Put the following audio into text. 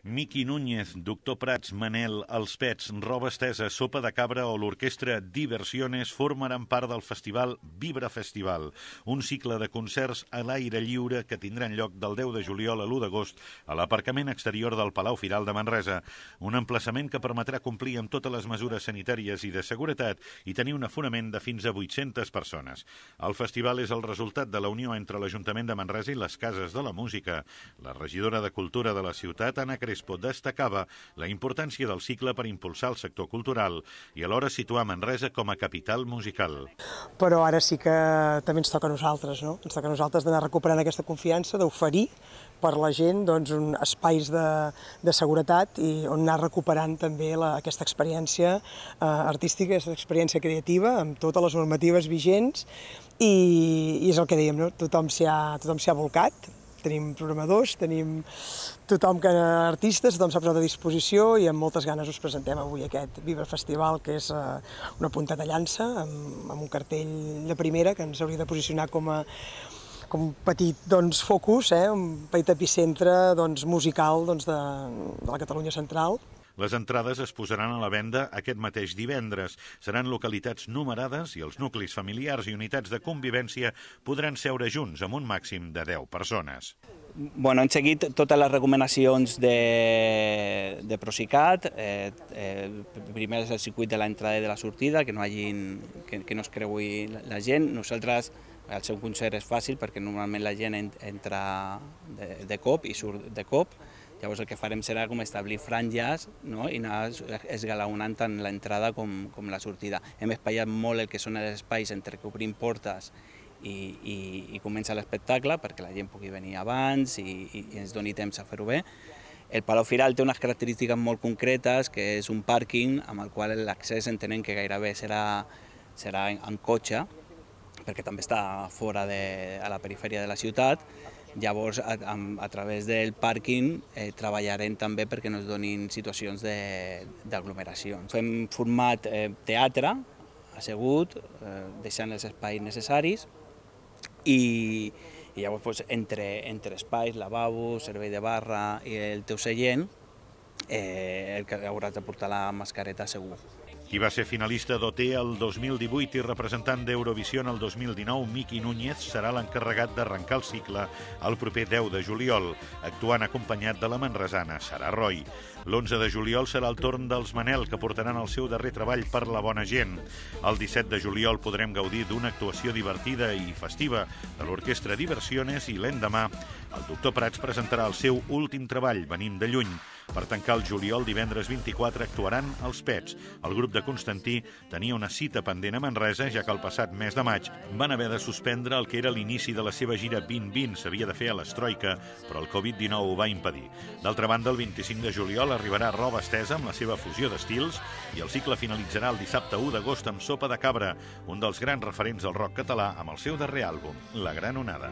Miqui Núñez, Doctor Prats, Manel, Els Pets, Roba Estesa, Sopa de Cabra o l'orquestra Diversiones formaran part del festival Vibra Festival, un cicle de concerts a l'aire lliure que tindran lloc del 10 de juliol a l'1 d'agost a l'aparcament exterior del Palau Firal de Manresa, un emplaçament que permetrà complir amb totes les mesures sanitàries i de seguretat i tenir un aforament de fins a 800 persones. El festival és el resultat de la unió entre l'Ajuntament de Manresa i les Cases de la Música. La regidora de Cultura de la ciutat, Anna Crespo, destacava la importància del cicle per impulsar el sector cultural i alhora situar Manresa com a capital musical. Però ara sí que també ens toca a nosaltres, no? Ens toca a nosaltres d'anar recuperant aquesta confiança, d'oferir per la gent espais de seguretat i on anar recuperant també aquesta experiència artística, aquesta experiència creativa amb totes les normatives vigents i és el que dèiem, no? Tothom s'hi ha volcat. Tenim programadors, tenim tothom artistes, tothom s'ha posat a disposició i amb moltes ganes us presentem avui aquest Vibra Festival, que és una punta de llança amb un cartell de primera que ens hauria de posicionar com un petit focus, un petit epicentre musical de la Catalunya central. Les entrades es posaran a la venda aquest mateix divendres. Seran localitats numerades i els nuclis familiars i unitats de convivència podran seure junts amb un màxim de 10 persones. Hem seguit totes les recomanacions de Procicat. Primer és el circuit de l'entrada i de la sortida, que no es creui la gent. Nosaltres, el seu concert és fàcil perquè normalment la gent entra de cop i surt de cop. Llavors el que farem serà com establir franges i anar esgalaonant tant l'entrada com la sortida. Hem espaiat molt el que són els espais entre que obrim portes i comença l'espectacle perquè la gent pugui venir abans i ens doni temps a fer-ho bé. El Palau Firal té unes característiques molt concretes, que és un pàrquing amb el qual l'accés entenem que gairebé serà en cotxe, perquè també està fora a la perifèria de la ciutat. Llavors, a través del pàrquing treballarem també perquè no es donin situacions d'aglomeració. Hem format teatre, assegut, deixant els espais necessaris i llavors entre espais, lavabo, servei de barra i el teu seient, el que hauràs de portar la mascareta segur. Qui va ser finalista d'OT el 2018 i representant d'Eurovisió el 2019, Miqui Núñez, serà l'encarregat d'arrencar el cicle el proper 10 de juliol, actuant acompanyat de la manresana Sara Roy. L'11 de juliol serà el torn dels Manel, que portaran el seu darrer treball per la bona gent. El 17 de juliol podrem gaudir d'una actuació divertida i festiva de l'orquestra Diversiones i l'endemà el Doctor Prats presentarà el seu últim treball, Venim de lluny. Per tancar el juliol, divendres 24, actuaran Els Pets. El grup de Constantí tenia una cita pendent a Manresa, ja que el passat mes de maig van haver de suspendre el que era l'inici de la seva gira 2020. S'havia de fer a l'Estroika, però el Covid-19 ho va impedir. D'altra banda, el 25 de juliol arribarà Roba Estesa amb la seva fusió d'estils i el cicle finalitzarà el dissabte 1 d'agost amb Sopa de Cabra, un dels grans referents del rock català amb el seu darrer àlbum, La Gran Onada.